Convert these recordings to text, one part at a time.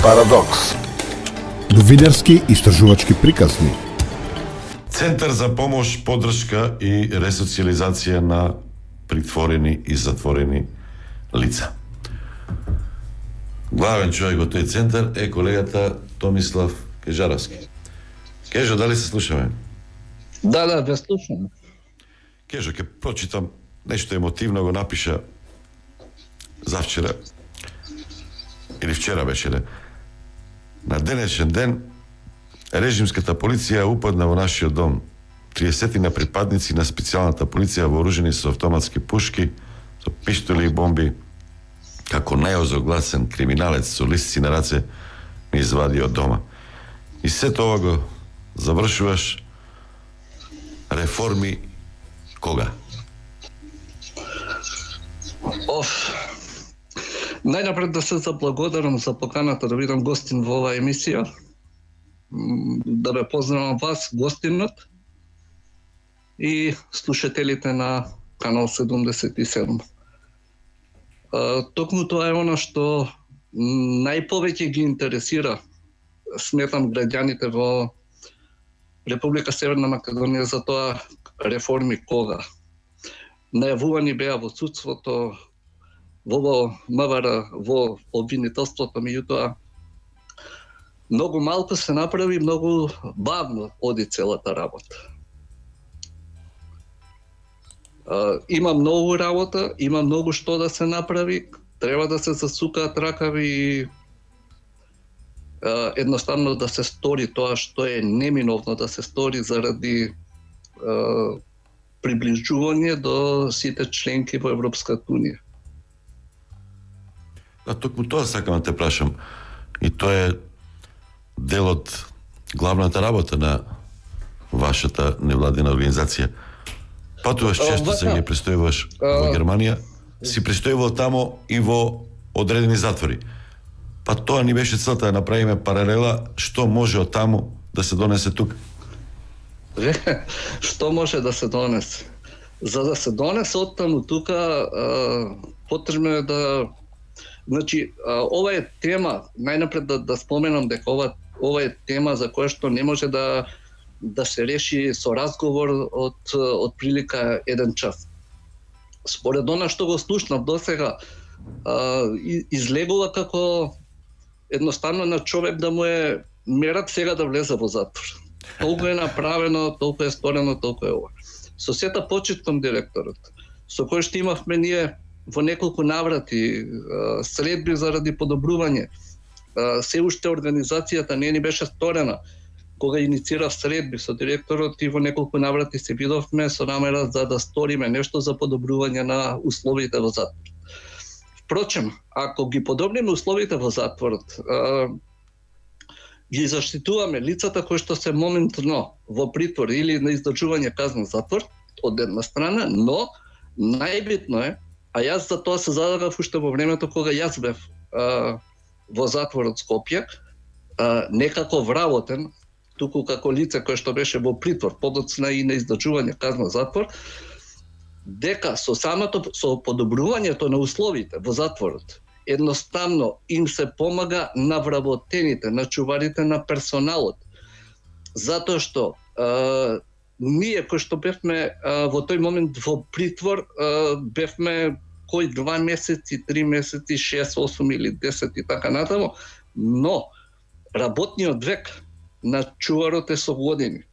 Парадокс. Новинарски истражувачки приказни. Центар за помош, поддршка и ресоциализација на притворени и затворени лица. Главен човек во тој центар е колегата Томислав Кежаровски. Кежо, дали се слушаме? Да, ве слушам. Кежо, ќе прочитам нешто емотивно, го напиша завчера или вчера беше ли. На денешен ден режимската полиција упадна во нашиот дом. 30 на припадници на специјалната полиција вооружени со автоматски пушки, со пиштоли и бомби, како најозогласен криминалец со лисци на раце, ми извади од дома. И сето ова го завршуваш реформи кога? Најнапред да се заблагодарам за поканата да бидам гостин во оваа емисија. Да ве поздравам вас, гостинот, и слушателите на Канал 77. Токму тоа е она што најповеќе ги интересира, сметам, граѓаните во Република Северна Македонија, за тоа реформи кога. Најавувани беа во судството, во МВР, во обвинителството, меѓутоа многу малку се направи, многу бавно оди целата работа. Има многу работа, има многу што да се направи, треба да се засукаат ракави и едноставно да се стори тоа што е неминовно да се стори заради приближување до сите членки во Европската унија. Токму тоа сакам да те прашам. И тоа е дел од главната работа на вашата невладина организација. Патуваш често, се ги престојуваш во Германија, си престојувал тамо и во одредени затвори. Па тоа ни беше целта да направиме паралела што може од таму да се донесе тука. Што може да се донесе? За да се донесе од таму тука, потребно е да... Значи, ова е тема, најнапред да споменам дека ова е тема за која што не може да се реши со разговор од прилика 1 час. Според она што го слушнав досега, излегува како едноставно на човек да му е мерак сега да влезе во затвор. Толку е направено, толку е сторено, толку е ова. Со сета почит кон директорот, со кој што имавме ние во неколку наврати средби заради подобрување. Се уште организацијата не ни беше сторена. Кога иницирав средби со директорот и во неколку наврати се видовме со намера за да сториме нешто за подобрување на условите во затворот. Впрочем, ако ги подобриме условите во затворот, ги заштитуваме лицата кои што се моментно во притвор или на издржување казна затвор, од една страна, но најбитно е, а јас за тоа се задавав уште во времето кога јас бев во затворот Скопје, некако вработен, туку како лице кое што беше во притвор, подоцна и на издржување казна затвор, дека со подобрувањето на условите во затворот, едноставно им се помага на вработените, на чуварите на персоналот. Затоа што ние кои што бевме во тој момент во притвор, бевме кој 2 месеци, 3 месеци, 6, 8 или 10 и така натаму, но работниот век на чуварот е со години.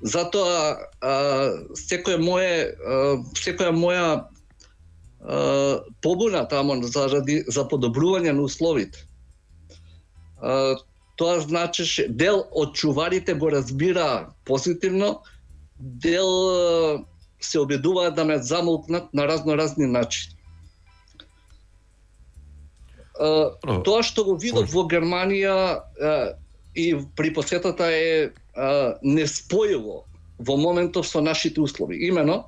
Затоа секоја моја побуна тамо за подобрување на условите. Тоа значеше дел од чуварите го разбира позитивно, дел се обидуваат да ме замолкнат на разни начини. Тоа што го видов во Германија и при посетата е неспојиво во моментов со нашите услови. Имено,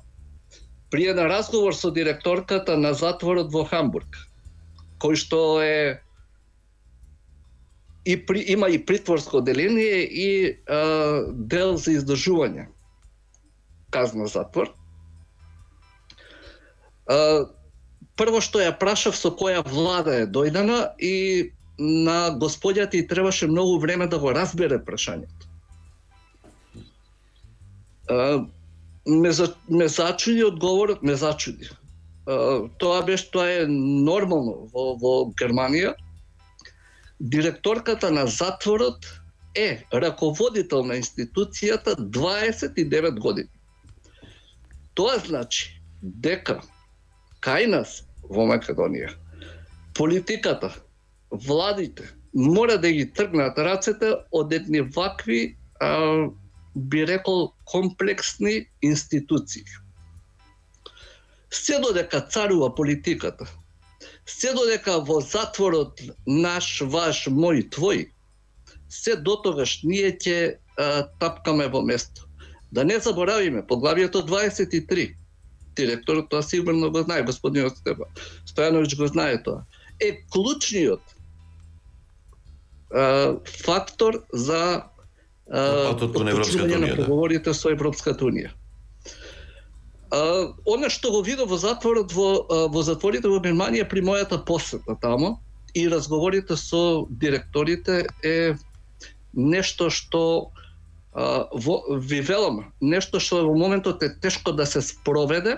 при еден разговор со директорката на затворот во Хамбург, кој што е има и притворско одделение и дел за издржување казна затвор. Прво што ја прашав со која влада е дојдена и на господјата и требаше многу време да го разбере прашањето. Ме зачуди одговорот, ме зачуди. Тоа е нормално во Германија. Директорката на затворот е раководител на институцијата 29 години. Тоа значи дека кај нас во Македонија политиката, владите мора да ги тргнат рацете од едни вакви, би рекол, комплексни институции. Се додека царува политиката, се додека во затворот наш, ваш, мој, твој, се дотогаш ние ќе тапкаме во место. Да не заборавиме, поглавието 23, директорот тоа сигурно го знае, господинот Стојановиќ го знае тоа, е клучниот фактор за почнување на преговорите со Европската Унија. Она што го видов во затворот, во затворите во Германија при мојата посета тамо и разговорите со директорите е нешто што ви велам, нешто што во моментот е тешко да се спроведе,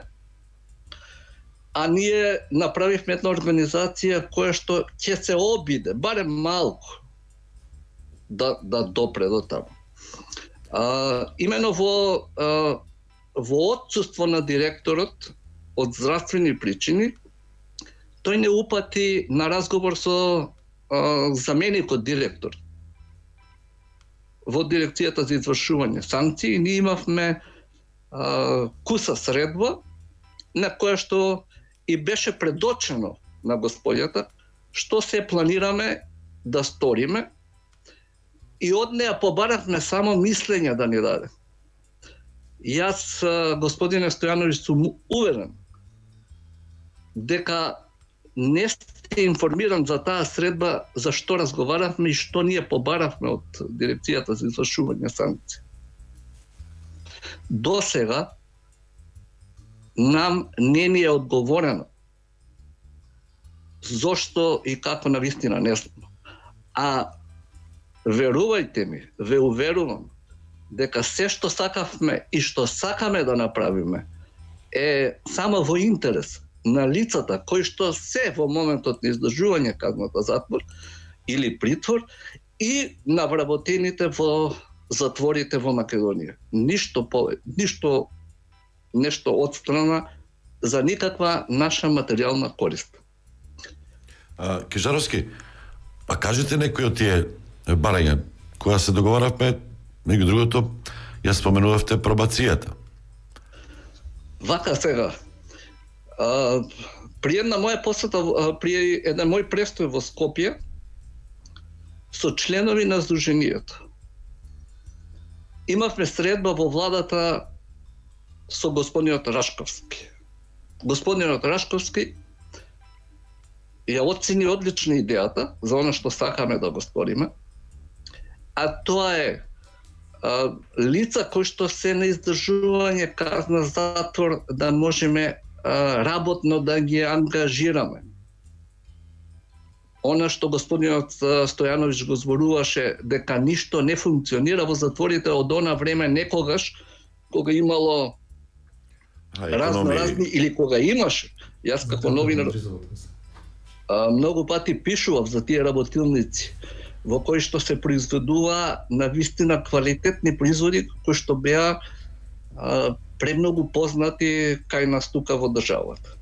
а ние направивме една организација која што ќе се обиде, барем малку, да допре до таму. Имено во отсуство на директорот од здравствени причини, тој не упати на разговор со заменикот директор во дирекцијата за извршување санкции. Ние имавме куса средба на која што и беше предочено на господјата што се планираме да сториме, и од неа побаравме само мислење да ни даде. Јас, господине Стојановиќ, сум уверен дека не сте информиран за таа средба за што разговаравме и што ние побаравме од дирекцијата за извршување санкции. До сега нам не ни е одговорено зошто и како навистина не знам. А верувајте ми, ве уверувам дека се што сакавме и што сакаме да направиме е само во интерес на лицата кои што се во моментот на издржување казната затвор или притвор и на вработените во затворите во Македонија. Ништо нешто одстрана за никаква наша материјална корист. Кижаровски, па кажете некои од тие барања која се договаравме, меѓу другото, ја споменувавте пробацијата. Вака сега, при една моја посета, при еден мој престој во Скопје, со членови на Сдруженијето, имавме средба во владата со господинот Рашковски. Господинот Рашковски ја оцени одлично идејата за она што сакаме да го сториме, а тоа е лица кои што се на издржување казна затвор да можеме работно да ги ангажираме. Она што господинот Стојановиќ го зборуваше дека ништо не функционира во затворите од она време некогаш кога имало разни или кога имаше. Јас како новинар многу пати пишував за тие работилници во кои што се произведува на вистина квалитетни производи кои што беа премногу познати кај нас тука во државата.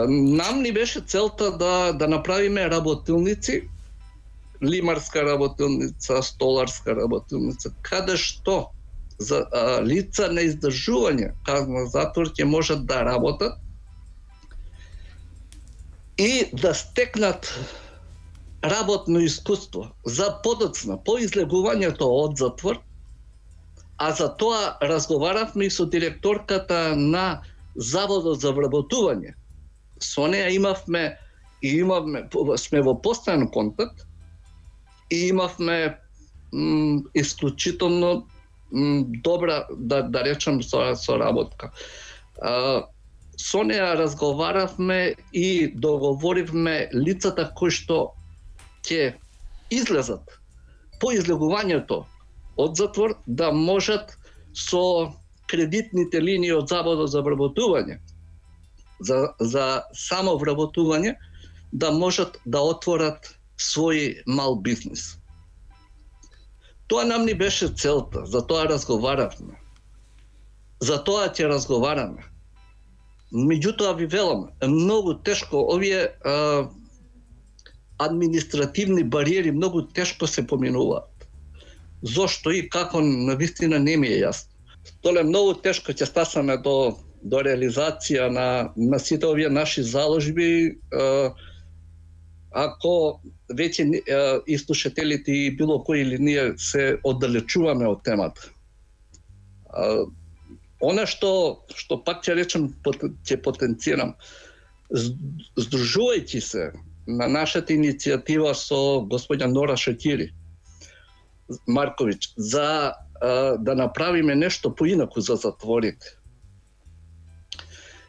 Нам ни беше целта да направиме работилници, лимарска работилница, столарска работилница, каде што за лица на издржување казна затвор ќе можат да работат и да стекнат работно искуство за подоцна по излегувањето од затвор, а за тоа разговаравме и со директорката на Заводот за вработување. Со неја имавме сме во постојан контакт и имавме исклучително добра, да речем, соработка. со неа разговаравме и договоривме лицата кои што ќе излезат по излегувањето од затвор да можат со кредитните линии од Заводот за вработување, за само вработување, да можат да отворат свој мал бизнис. Тоа нам ни беше целта, за тоа разговаравме. За тоа ќе разговараме. Меѓутоа ви велам, многу тешко овие административни бариери многу тешко се поминуваат. Зошто и како навистина не ми е јасно. Толе многу тешко ќе стасаме до реализација на сите овие наши заложби, ако веќе и слушателите и било кој или ние се оддалечуваме од темата. Она што пак ќе речем, ќе потенцирам, здружувајќи се на нашата иницијатива со господја Нора Шакири Марковиќ, за да направиме нешто поинаку за затворите.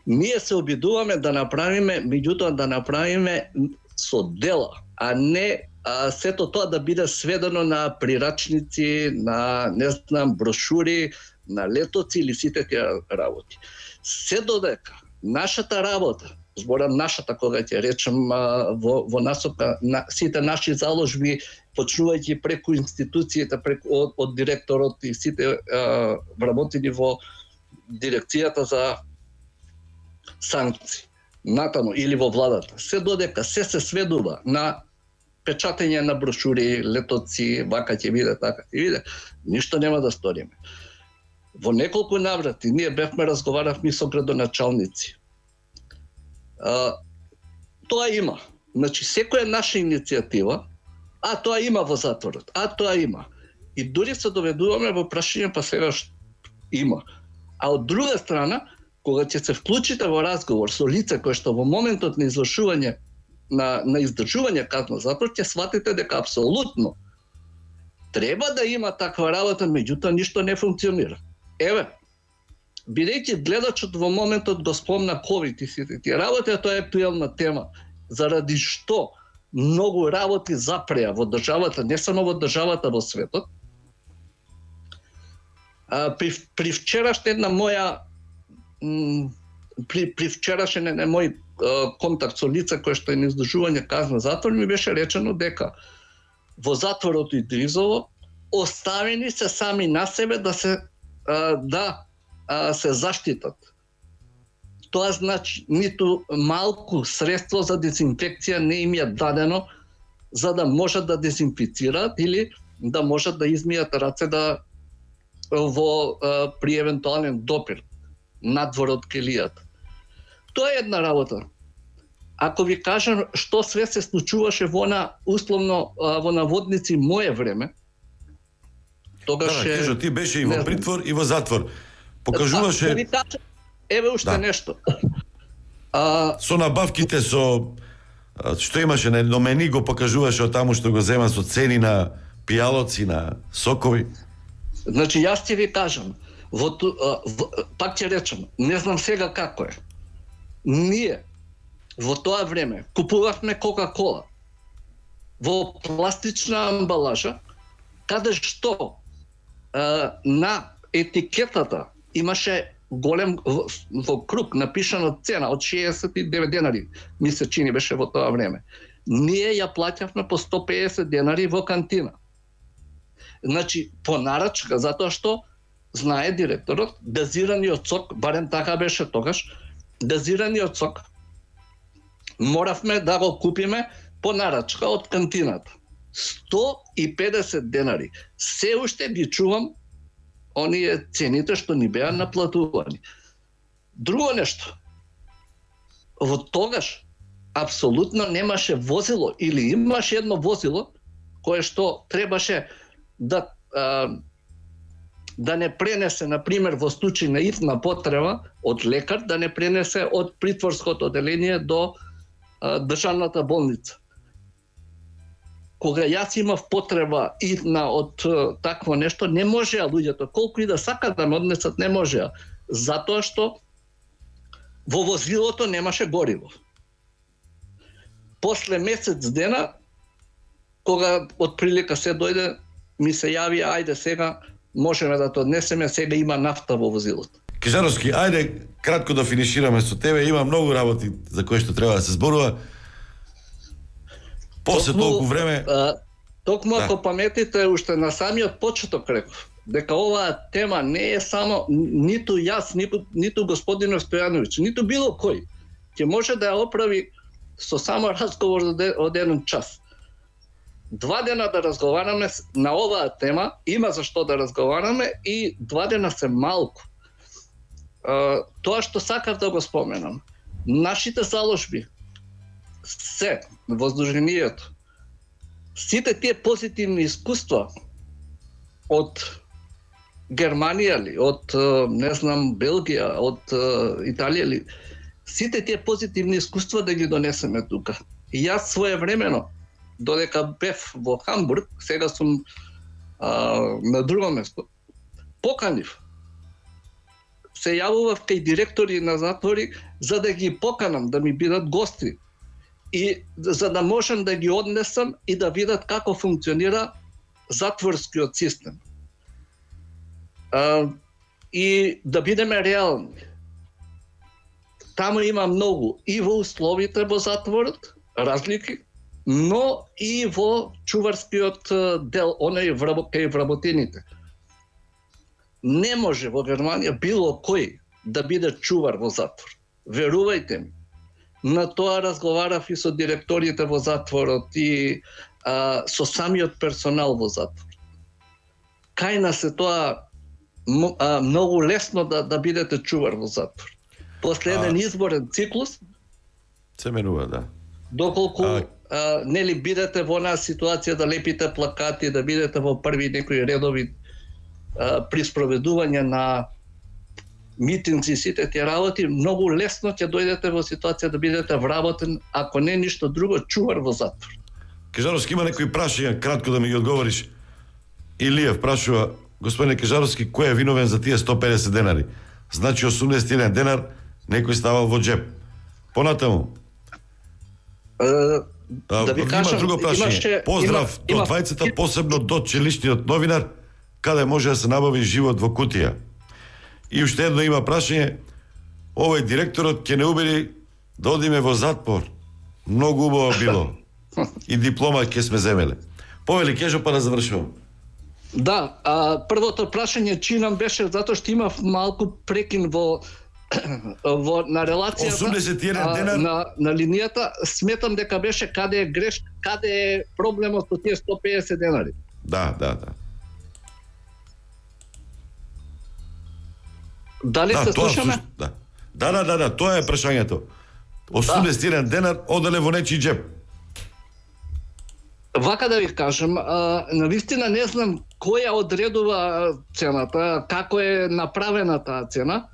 Ние се обидуваме да направиме, меѓутоа да направиме со дела, а не сето тоа да биде сведено на прирачници, на, не знам, брошури, на летоци или сите тие работи. Се додека нашата работа, зборам нашата, кога ќе речем во насока на сите наши заложби, почнувајќи преку институциите, од директорот и сите вработени во дирекцијата за санкции, натаму или во владата, се додека се сведува на печатење на брошури, летоци, вака ќе биде, така ќе биде, ништо нема да сториме. Во неколку наврати ние разговаравме со градоначалници. Тоа има. Значи, секоја наша иницијатива, тоа има во затворот, тоа има. И дури се доведуваме во прашање, па сега има. А од друга страна, кога ќе се вклучите во разговор со лице кој што во моментот на извршување, на издржување казна затвор, ќе сватите дека апсолутно треба да има таква работа, меѓутоа ништо не функционира. Еве, бидејќи гледачот во моментот го спомна ковид и сите тие работи, тоа е актуелна тема, заради што многу работи запреа во државата, не само во државата, во светот. При вчерашен една моја при вчерашен мој контакт со лица кој што е на издржување казна затвор, ми беше речено дека во затворот и Дризово оставени се сами на себе да се заштитат. Тоа значи ниту малку средство за дезинфекција не им е дадено за да можат да дезинфицираат или да можат да измијат раце при евентуален допир надвор од келијата. Тоа е една работа. Ако ви кажам што све се случуваше условно во наводници мое време, тогаш кажа, ти беше и во притвор и во затвор. Покажуваше... Еве уште нешто. Со набавките, што имаше на номени, го покажуваше од таму што го зема со цени на пијалоци, на сокови. Значи, јас ќе ви кажам, пак ќе речем, не знам сега како е. Ние во тоа време купувавме Кока-кола во пластична амбалажа, каде што на етикетата имаше голем во круг напишано цена од 69 денари, ми се чини беше во тоа време. Ние ја плаќавме по 150 денари во кантина. Значи, по нарачка, затоа што знае директорот, газираниот сок, барем така беше тогаш, газираниот сок моравме да го купиме по нарачка од кантината. 150 денари. Се уште ги чувам оние цените што ни беа наплатувани. Друго нешто. Во тогаш апсолутно немаше возило или имаше едно возило кое што требаше да не пренесе, например, во случај на итна потреба од лекар, да не пренесе од притворското оделение до државната болница. Кога јас имав потреба итна од такво нешто, не можеа луѓето, колку и да сакат да ме однесат, не можеа. Затоа што Во возилото немаше гориво. После месец дена, кога отприлика се дојде, ми се јави, ајде сега можеме да те однесеме, сега има нафта во возилото. Кежаровски, ајде кратко да финишираме со тебе, има многу работи за кои што треба да се зборува. После толку време... Токму ако паметите, уште на самиот почеток реков, дека оваа тема не е само ниту јас, ниту господин Стојановиќ, ниту било кој, ќе може да ја оправи со само разговор од 1 час. 2 дена да разговараме на оваа тема, има за што да разговараме и 2 дена се малку. Тоа што сакав да го споменам, нашите заложби се во Сдруженијето, сите тие позитивни искуства од Германија ли, од не знам Белгија, од Италија ли, сите тие позитивни искуства да ги донесеме тука. И јас своевремено, додека бев во Хамбург, сега сум на друго место, поканив. Се јавував кај директори на затвори за да ги поканам да ми бидат гости и за да можам да ги однесам и да видат како функционира затворскиот систем. И да бидеме реални. Таму има многу и во условите во затворот, разлики, но и во чуварскиот дел, оној кај вработените. Не може во Германија било кој да биде чувар во затвор. Верувајте ми. На тоа разговарав и со директорите во затворот и со самиот персонал во затвор. Кај нас е тоа многу лесно да бидете чувар во затвор. После еден изборен циклус се менува, да. Доколку нели бидете во онаа ситуација да лепите плакати, да бидете во први некои редови при спроведување на митинзи и сите тие работи, многу лесно ќе дојдете во ситуација да бидете вработен, ако не ништо друго, чувар во затвор. Кежаровски, има некои прашања, кратко да ми ги одговориш. Илиев прашува, господине Кежаровски, кој е виновен за тие 150 денари? Значи 81 денар некој ставал во джеб. Понатаму. Да ви кажам, има друго прашање. Поздрав до двајцата, посебно до челишниот новинар, каде може да се набави живот во кутија. И уште едно има прашање, овој директорот ќе не убеди да одиме во затвор. Многу убаво било. И диплома ќе сме земеле. Повели Кежо, па да завршувам. Да, првото прашање чинам беше затоа што имав малку прекин на релацијата 81 денар на линијата. Сметам дека беше каде е грешка, каде е проблемот со тие 150 денари. Да. Дали се слушаме? Да, тоа е прашањето. 81 денар оделе во нечи джеб. Вака да ви кажам, навистина не знам која одредува цената, како е направена таа цена.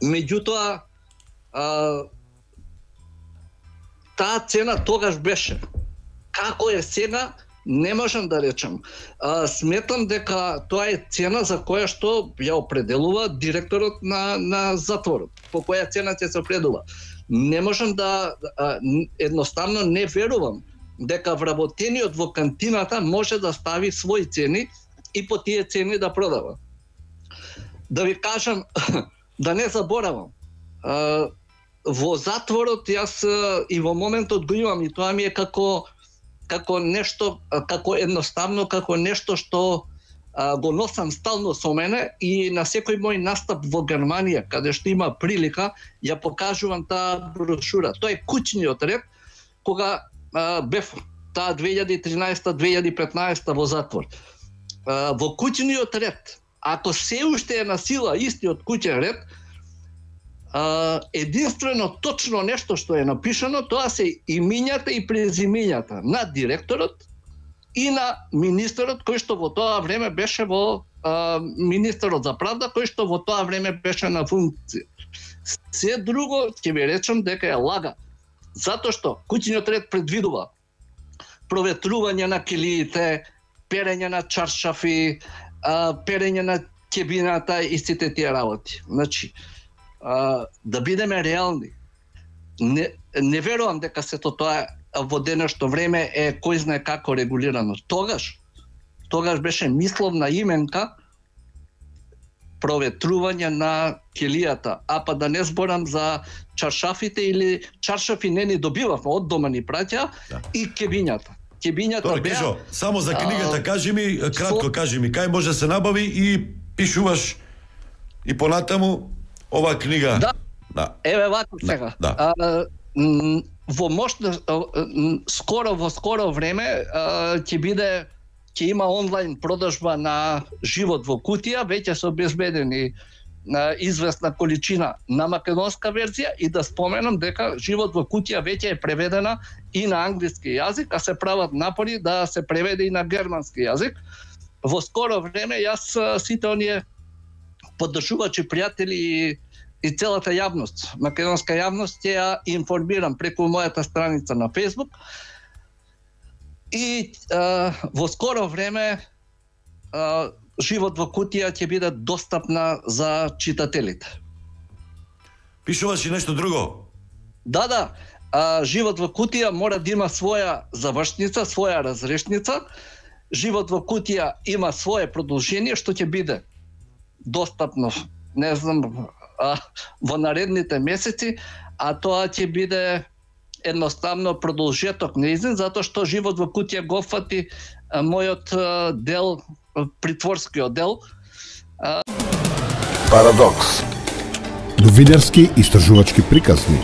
Меѓутоа, таа цена тогаш беше. Како е сега, не можам да речам. Сметам дека тоа е цена за која што ја определува директорот на затворот. По која цена ќе се определува. Не можам едноставно не верувам дека вработениот во кантината може да стави своји цени и по тие цени да продава. Да ви кажам, да не заборавам, во затворот јас и во моментот го имам и тоа ми е како нешто, како едноставно, како нешто што го носам стално со мене и на секој мој настап во Германија, каде што има прилика, ја покажувам таа брошура. Тоа е куќниот ред, кога бев таа 2013-2015 во затвор. Во куќниот ред, ако се уште е на сила истиот куќен ред, единствено точно нешто што е напишано, тоа се имињата и презимињата на директорот и на министерот кој што во тоа време беше во министерот за правда, кој што во тоа време беше на функција. Се друго ќе ви речам дека е лага. Затоа што куќниот ред предвидува проветрување на килиите, перење на чаршафи, перење на кебината и сите тие работи. Значи, да бидеме реални. Не верувам дека сето тоа во денешно време е кој знае како регулирано. Тогаш беше мисловна именка проветрување на келијата, а па да не зборам за чаршафите или чаршафи не ни добивавме, од дома ни праќа, и кебињата. Кебињата беа... Само за книгата кажи ми, кратко кажи ми, кај може да се набави и пишуваш и понатаму оваа книга. Да. Еве вака сега. Во скоро време ќе има онлайн продажба на Живот во кутија, веќе се обезбедени известна количина на македонска верзија, и да споменам дека Живот во кутија веќе е преведена и на англиски јазик, а се прават напори да се преведе и на германски јазик. Во скоро време јас сите оние поддржувачи, пријатели и целата јавност, македонска јавност, ќе ја информирам преку мојата страница на Facebook. И во скоро време Живот во кутија ќе биде достапна за читателите. Пишуваш и нешто друго? Да. Живот во кутија мора да има своја завршница, своја разрешница. Живот во кутија има свое продолжение што ќе биде достапно, не знам, во наредните месеци, а тоа ќе биде едноставно продолжеток неизин, затоа што Живот во кутија го фати мојот дел, притворскиот дел. Парадокс. Новинарски истражувачки приказни.